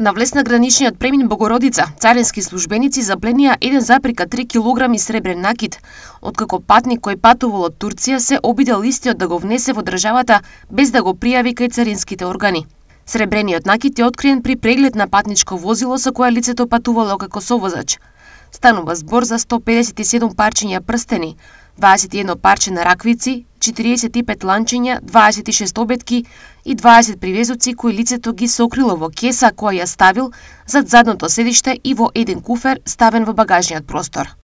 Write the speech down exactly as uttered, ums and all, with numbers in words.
На влез на граничниот премин Богородица, царински службеници запленија еден запирка три килограми сребрен накит, откако патник кој патувал од Турција се обидел истиот да го внесе во државата без да го пријави кај царинските органи. Сребрениот накит е откриен при преглед на патничко возило со кое лицето патувало како совозач. Станува збор за сто педесет и седум парчиња прстени, дваесет и едно парче на раквици, четириесет и пет ланчиња, дваесет и шест обетки и дваесет привезоци кои лицето ги сокрило во кеса која ја ставил зад задното седиште и во еден куфер ставен во багажниот простор.